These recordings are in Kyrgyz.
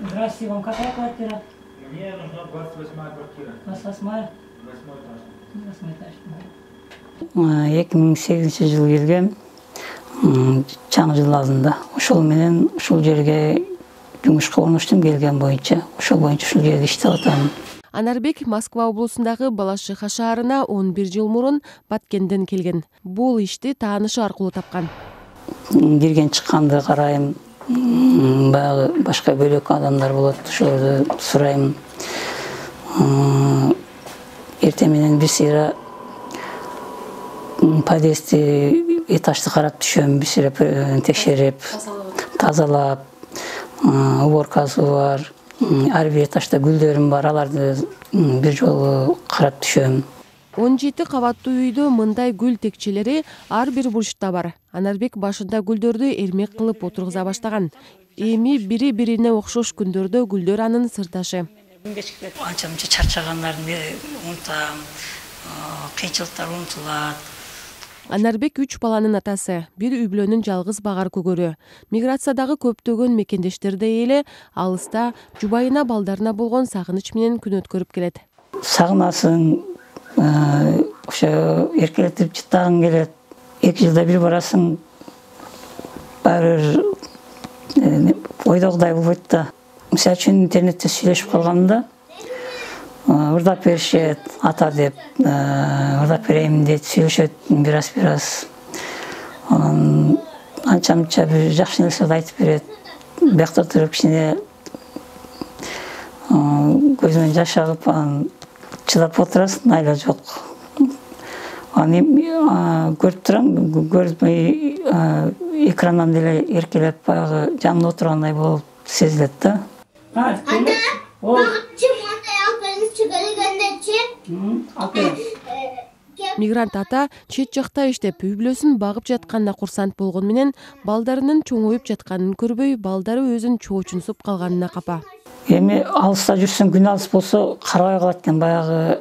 Здравствуйте, вам какая квартира? Мне нужна 28-я квартира. 28-я? 8 этаж. 8 этаж. 2008-жылы келгем. Жаңы жыл алдында. Ошол менен ушул жерге жумушка орноштум келген боюнча. Ошол боюнча ушул жерде иштеп атам. Анарбек Москва облусундагы Балашиха шаарына 11 жыл мурун Баткенден келген. Бул ишти таанышы аркылуу тапкан. Кирген чыкканды карайм. Баягы башка бөлөк адамдар болот. Ошолорду сурайм. Эртең менен бир сыйра подъездди этажды карап түшөм, бир сыйра текшерип, тазалап, уборкасы бар. Ар бир этажда гүлдөрүм бар, аларды бир жолу карап түшөм. 17 кабаттуу үйдө мындай гүл текчелери ар бир бурчта бар. Анарбек башында гүлдөрдү эрмек кылып отургуза баштаган. Эми бири-бирине окшош күндөрдө гүлдөр анын сырдашы. Анча-мынча чарчаганларды унутам, кыйынчылыктар унутулат. Анарбек 3 баланын атасы, бир үй бүлөнүн жалгыз багар көгөрү. Миграциядагы көптөгөн мекендештердей эле алыста жубайына балдарына болгон сагыныч менен күн өткөрүп келет. Сагынасың, ошо эркелетип жыттагың келет. 2 жылда бир барасың, баары ойдогудай болбойт да. Мисалы үчүн интернетте сүйлөшүп калганда, ырдап беришет, ата деп, ырдап берейин дейт, сүйлөшөт бир-аз. Анча-мынча бир жакшы нерселерди айтып берет. Биякта туруп кичине көзүмөн жаш агып, чыдап отурасың, айла жок. Аны көрүп турам, экрандан деле эркелеп, баягы жанымда отургандай болуп сезилет да. Мигрант ата чет жакта иштеп, үй бүлөсүн багып жатканда курсант болгон менен балдарынын чоңоюп жатканын көрбөй, балдары өзүн чоочунсуп калганына капа. Эми алыста жүрсөң, күн алыс болсо карабай калат экен, баягы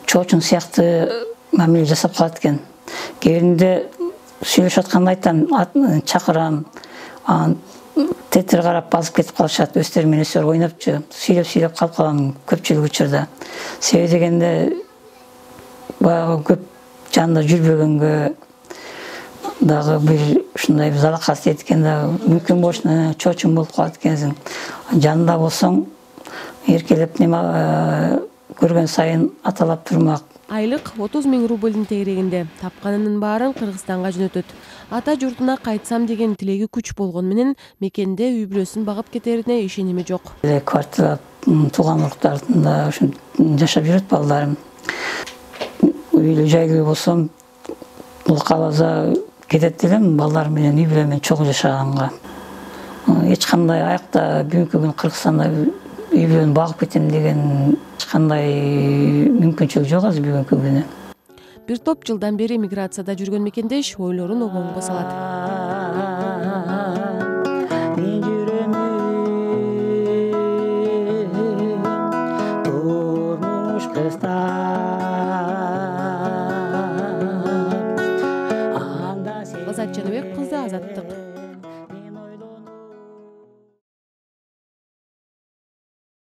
чоочун сыяктуу мамиле жасап калат экен. Кээ биринде сүйлөшүп атканда айтам, чакырам, тетир карап басып кетип калышат, өздөрү менен өздөрү ойнопчу, сүйлөп калып калам көпчүлүк учурда. Себеби дегенде баягы көп жанында жүрбөгөнгө дагы бир ушундай залакасы тиет экен да, мүмкүн болушуна чоочун болуп калат экенсиң. Жанында болсоң, эркелеп көргөн сайын аталап турмак. Айлык 30 000 рубльдин тегерегинде, тапканынын баарын Кыргызстанга жөнөтөт. Ата журтуна кайтсам деген тилеги күч болгон менен мекенде үй бүлөсүн багып кетерине ишеними жок. Квартира тууган уруктарында ушинтип жашап жүрөт балдарым. Үйлүү жайлуу болсом, бул каласа кетет элем, балдарым менен үй бүлө менен чогуу жашаганга. Эч кандай аякта бүгүнкү күн Кыргызстанда үй бүлөнү багып кетем деген эч кандай мүмкүнчүлүк жок азыр бүгүнкү күнү. Бир топ жылдан бери миграцияда жүргөн мекендеш ойлорун обомго салат. Турмуш